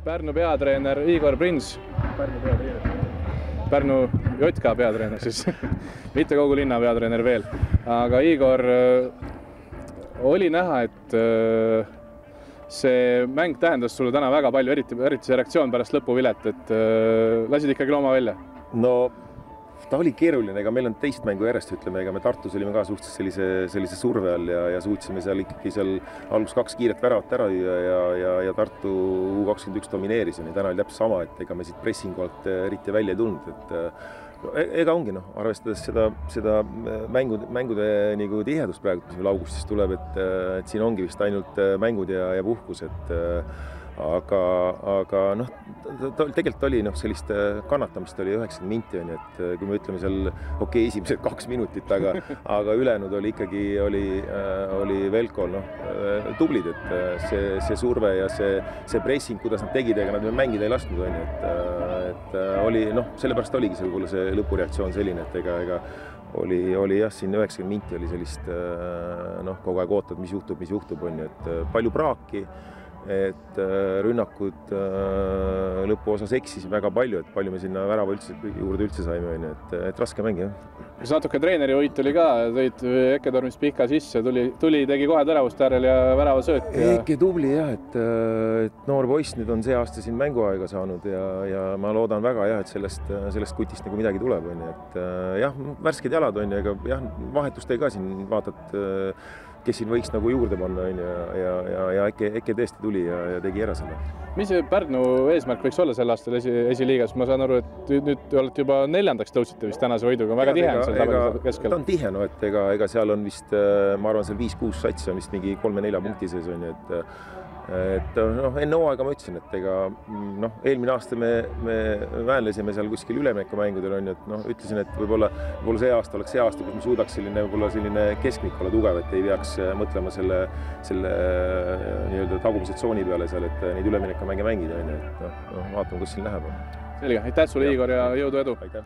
Pärnu peatreener Igor Prins. Pärnu JK peatreener siis, mitte kogu linna peatreener veel. Aga Igor, oli näha, et see mäng tähendas sulle täna väga palju, eriti see reaktsioon pärast lõpuvilet, et lasid ikkagi looma välja? No ta oli keeruline, ega meil on teist mängu järjest, ütleme, ega me Tartus olime ka suhteliselt sellise surve all ja suutsime seal ikkagi algus 2 kiiret väravat ära ja Tartu U21 domineeris ja täna oli täpselt sama, et ega me siit pressingu alt eriti välja ei tulnud, et ega ongi, arvestades seda mängude nagu tihedust praegu, mis meil augustis tuleb, et siin ongi vist ainult mängud ja puhkus, et aga tegelikult oli sellist kannatamist oli 90 minti, et kui me ütleme seal esimesed 2 minutit, aga ülejäänud oli ikkagi Velkol tublid, et see surve ja see pressing, kuidas nad tegid, ega nad mängida ei lasknud, et oli, sellepärast oligi see võib-olla see lõpureaktsioon selline, et ega oli jah, siin 90 minti oli sellist kogu aeg ootad, mis juhtub, et palju praaki, et rünnakud lõpuosas eksis väga palju, et palju me sinna värava juurde üldse saime, et raske mäng, jah. Kas natuke treeneri võit oli ka, tõid Eke Tormist pihka sisse, tegi kohe teravust äärel ja värava sööt. Eke tubli jah, et noor poiss nüüd on see aasta siin mänguaega saanud ja ma loodan väga jah, et sellest kutist nagu midagi tuleb, et jah, värsked jalad on ja jah, vahetust ei ka siin vaatad, kes siin võiks nagu juurde panna ja Eke tõesti tuli ja tegi ära selle. Mis Pärnu eesmärk võiks olla sel aastal esiliigas? Ma saan aru, et nüüd olete juba 4. tõusite vist tänase võiduga, väga tihe on seal tabeli keskel. Ta on tihe, et ega seal on vist, ma arvan, seal 5-6 satsi on vist mingi 3-4 punkti sees on, et enne hooaega ma ütlesin, et ega eelmine aasta me väänlesime seal kuskil üleminekumängudel on, et ütlesin, et võib-olla see aasta oleks see aasta, kus me suudaks selline keskmik olla tugev, et ei peaks mõtlema selle nii-öelda tagumise tsooni peale seal, et neid üleminekumängida mängida, et vaatame, kus siin läheb. Selge, aitäh sulle, Igor, ja jõudu edu! Aitäh!